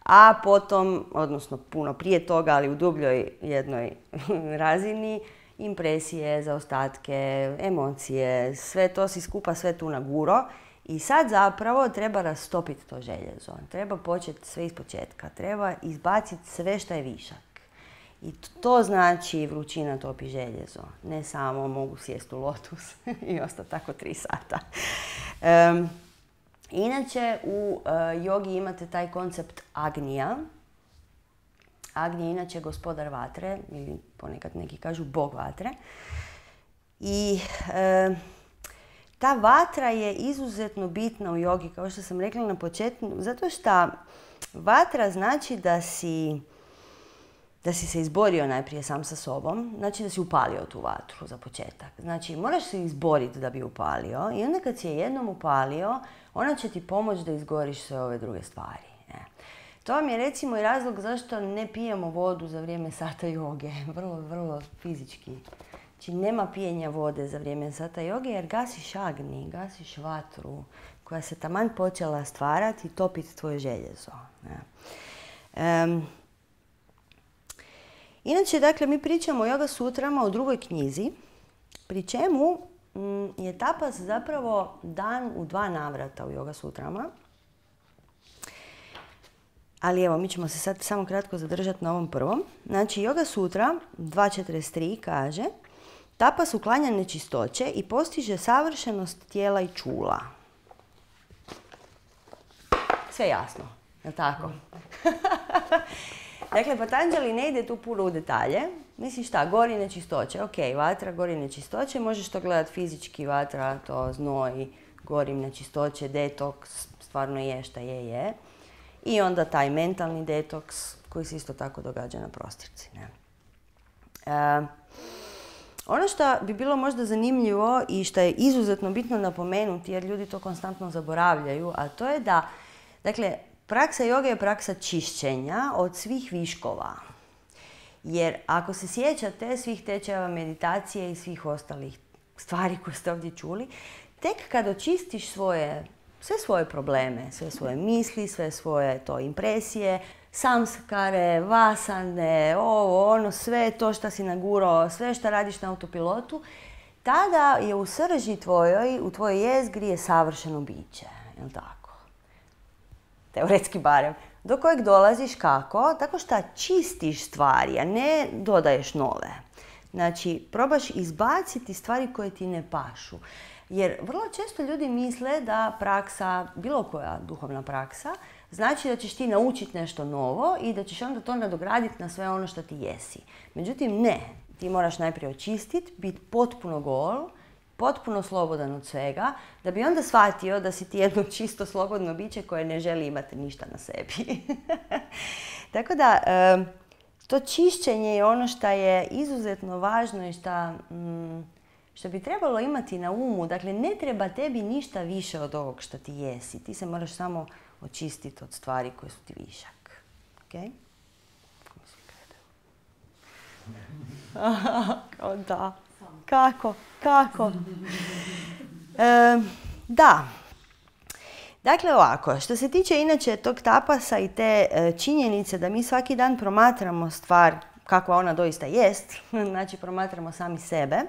A potom, odnosno puno prije toga, ali u dubljoj jednoj razini, impresije, zaostatke, emocije, sve to si skupa sve tu naguro. I sad zapravo treba rastopiti to željezo. Treba početi sve iz početka. Treba izbaciti sve što je višak. I to znači vrućina topi željezo. Ne samo mogu sjesti u lotus i ostati tako tri sata. Um, Inače, u uh, jogi imate taj koncept Agnija. Agnija je inače gospodar vatre, ili ponekad neki kažu bog vatre. I uh, ta vatra je izuzetno bitna u jogi, kao što sam rekla na početku, zato što vatra znači da si, da si se izborio najprije sam sa sobom, znači da si upalio tu vatru za početak. Znači, moraš se izboriti da bi upalio i onda kad si je jednom upalio, ona će ti pomoći da izgoriš sve ove druge stvari. Ne? To vam je recimo i razlog zašto ne pijemo vodu za vrijeme sata joge, vrlo, vrlo fizički. Znači, nema pijenja vode za vrijeme sata joge jer gasiš agni, gasiš vatru koja se taman počela stvarati i topiti tvoje željezo. Um, inače, dakle, mi pričamo o Yoga sutrama u drugoj knjizi, pri čemu m, je tapas zapravo dan u dva navrata u Yoga sutrama. Ali evo, mi ćemo se sad samo kratko zadržati na ovom prvom. Znači, Yoga sutra dva četrdeset tri kaže: tapas uklanja nečistoće i postiže savršenost tijela i čula. Sve jasno, je li tako? Dakle, Patanjali ne ide tu puno u detalje. Misliš šta, gori nečistoće. Ok, vatra, gori nečistoće. Možeš to gledati fizički, vatra, to znoj, gori nečistoće, detoks, stvarno je šta je, je. I onda taj mentalni detoks koji se isto tako događa na prostirci. Ne? E, ono što bi bilo možda zanimljivo i što je izuzetno bitno napomenuti, jer ljudi to konstantno zaboravljaju, a to je da, dakle, praksa joge je praksa čišćenja od svih viškova. Jer ako se sjećate svih tečajeva meditacije i svih ostalih stvari koje ste ovdje čuli, tek kad očistiš svoje, sve svoje probleme, sve svoje misli, sve svoje to impresije, samskare, vasane, ovo, ono, sve to što si nagurao, sve što radiš na autopilotu, tada je u srži tvojoj, u tvojoj jezgri je savršeno biće, jel' tako? Teoretski barem. Do kojeg dolaziš kako? Tako što čistiš stvari, a ne dodaješ nove. Znači, probaš izbaciti stvari koje ti ne pašu. Jer vrlo često ljudi misle da praksa, bilo koja duhovna praksa, znači da ćeš ti naučiti nešto novo i da ćeš onda to nadograditi na sve ono što ti jesi. Međutim, ne. Ti moraš najprije očistiti, biti potpuno gol, potpuno slobodan od svega, da bi onda shvatio da si ti jedno čisto slobodno biće koje ne želi imati ništa na sebi. Tako da, to čišćenje je ono što je izuzetno važno i što, što bi trebalo imati na umu. Dakle, ne treba tebi ništa više od ovog što ti jesi. Ti se moraš samo očistiti od stvari koje su ti višak. Okay? Kao da. Kako? Kako? E, da. Dakle, ovako, što se tiče inače tog tapasa i te e, činjenice da mi svaki dan promatramo stvar kakva ona doista jest, znači promatramo sami sebe,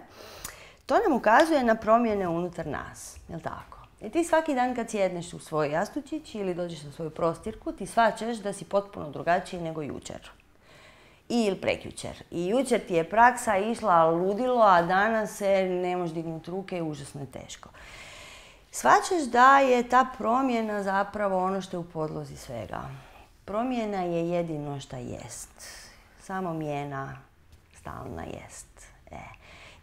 to nam ukazuje na promjene unutar nas, jel' tako? I ti svaki dan kad sjedneš u svoj jastučić ili dođeš na svoju prostirku, ti shvaćaš da si potpuno drugačiji nego jučer. Ili prekjučer. I jučer ti je praksa išla ludilo, a danas se ne možeš dignuti ruke i užasno je teško. Shvaćaš da je ta promjena zapravo ono što je u podlozi svega. Promjena je jedino što jest. Samo mijena stalna jest. E.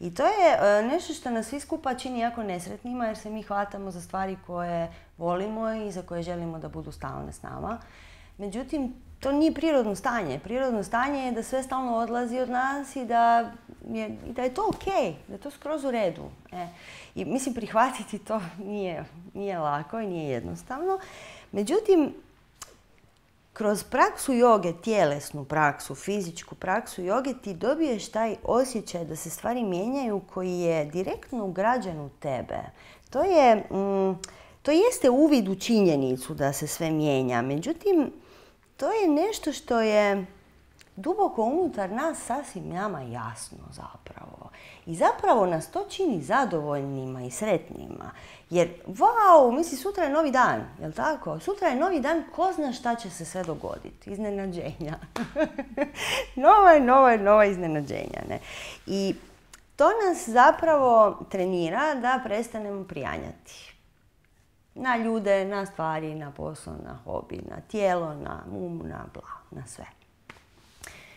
I to je nešto što nas svi skupa čini jako nesretnima jer se mi hvatamo za stvari koje volimo i za koje želimo da budu stalne s nama. Međutim, to nije prirodno stanje. Prirodno stanje je da sve stalno odlazi od nas i da je, i da je to ok, da je to skroz u redu. E. I mislim, prihvatiti to nije, nije lako i nije jednostavno. Međutim, kroz praksu joge, tjelesnu praksu, fizičku praksu joge, ti dobiješ taj osjećaj da se stvari mijenjaju koji je direktno ugrađen u tebe. To je, mm, to jeste uvid u činjenicu da se sve mijenja. Međutim, to je nešto što je duboko unutar nas sasvim nama jasno zapravo. I zapravo nas to čini zadovoljnima i sretnima. Jer, vau, misli, sutra je novi dan, jel' tako? Sutra je novi dan, ko zna šta će se sve dogoditi. Iznenađenja. nova, nova, nova iznenađenja. Ne? I to nas zapravo trenira da prestanemo prijanjati. Na ljude, na stvari, na posao, na hobi, na tijelo, na um, na bla, na sve.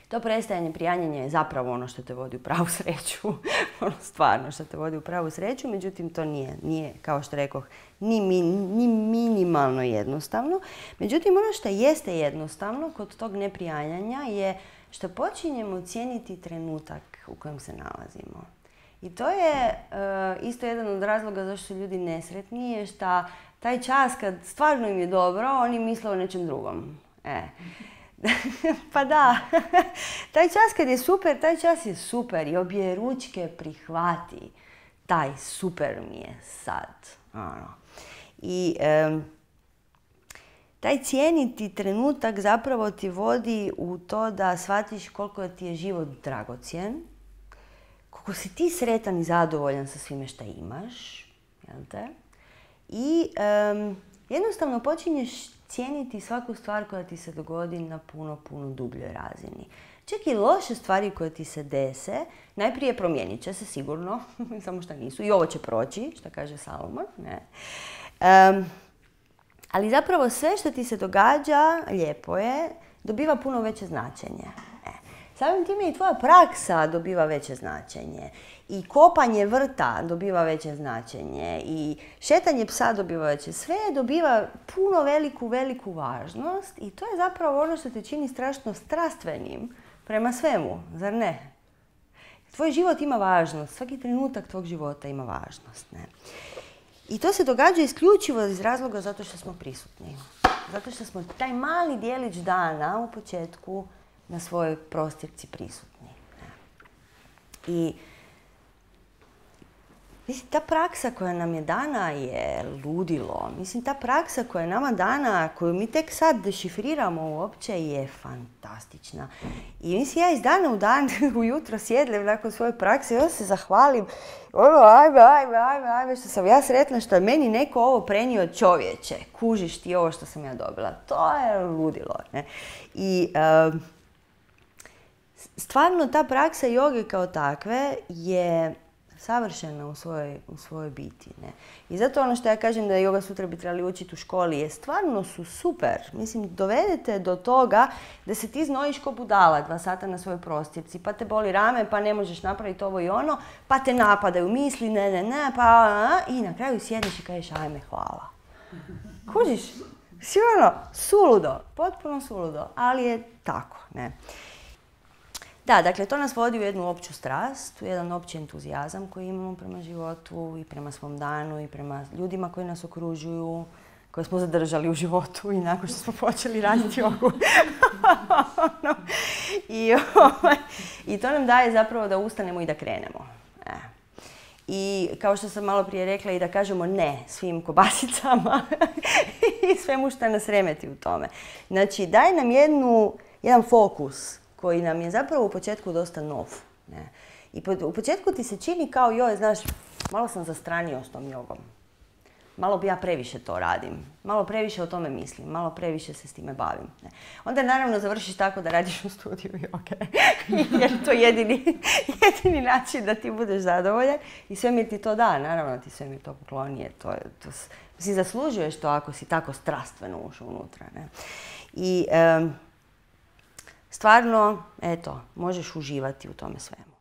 To prestajanje prijanjanja je zapravo ono što te vodi u pravu sreću. Ono stvarno što te vodi u pravu sreću, međutim to nije, nije kao što rekoh, ni, mi, ni minimalno jednostavno. Međutim, ono što jeste jednostavno kod tog neprijanjanja je što počinjemo cijeniti trenutak u kojem se nalazimo. I to je uh, isto jedan od razloga zašto su ljudi nesretni, je što taj čas kad stvarno im je dobro, oni misle o nečem drugom. E. Pa da, taj čas kad je super, taj čas je super i obje ručke prihvati. Taj super mi je sad. Ano. I um, taj cijeniti trenutak zapravo ti vodi u to da shvatiš koliko ti je život dragocjen, koliko si ti sretan i zadovoljan sa svime što imaš, jel te? I um, jednostavno počinješ cijeniti svaku stvar koja ti se dogodi na puno, puno dubljoj razini. Čak i loše stvari koje ti se dese, najprije promijenit će se sigurno, samo što nisu. I ovo će proći, što kaže Salomon. Ne. Um, ali zapravo sve što ti se događa, lijepo je, dobiva puno veće značenje. E. Samim time i tvoja praksa dobiva veće značenje. I kopanje vrta dobiva veće značenje. I šetanje psa dobiva veće. Sve dobiva puno veliku, veliku važnost. I to je zapravo ono što te čini strašno strastvenim prema svemu, zar ne? Tvoj život ima važnost. Svaki trenutak tvog života ima važnost. Ne? I to se događa isključivo iz razloga zato što smo prisutni. Zato što smo taj mali dijelić dana u početku na svojoj prostirci prisutni. Ne? I mislim, ta praksa koja nam je dana je ludilo. Mislim, ta praksa koja je nama dana, koju mi tek sad dešifriramo uopće, je fantastična. I mislim, ja iz dana u dan, ujutro sjedlem nakon svoje prakse i onda se zahvalim. Ono, ajme, ajme, ajme, ajme, što sam ja sretna što je meni neko ovo prenio čovječe. Kužiš ti ovo što sam ja dobila. To je ludilo. Ne? I um, stvarno ta praksa joge kao takve je savršena u svojoj, u svojoj biti. Ne? I zato ono što ja kažem da Yoga Sutra bi trebali učiti u školi je stvarno su super. Mislim, dovedete do toga da se ti znojiš ko budala dva sata na svojoj prostirci, pa te boli rame, pa ne možeš napraviti ovo i ono, pa te napadaju misli, ne, ne, ne, pa a, i na kraju sjedneš i kažeš ajme, hvala. Kužiš? Si ono, suludo, potpuno suludo, ali je tako. Ne? Da, dakle, to nas vodi u jednu opću strast, u jedan opći entuzijazam koji imamo prema životu i prema svom danu i prema ljudima koji nas okružuju, koje smo zadržali u životu i nakon što smo počeli raditi jogu. I, I to nam daje zapravo da ustanemo i da krenemo. E. I kao što sam malo prije rekla i da kažemo ne svim kobasicama i svemu što nas remeti u tome. Znači, daje nam jednu, jedan fokus koji nam je zapravo u početku dosta nov. Ne? I po, u početku ti se čini kao joj, znaš, malo sam zastranio s tom jogom. Malo bi ja previše to radim. Malo previše o tome mislim. Malo previše se s time bavim. Ne? Onda naravno završiš tako da radiš u studiju joge. Jer to je jedini, jedini način da ti budeš zadovoljan. I svemir ti to da. Naravno ti svemir to pokloni. To, to, si zaslužuješ to ako si tako strastveno ušao unutra. Ne? I um, stvarno, eto, možeš uživati u tome svemu.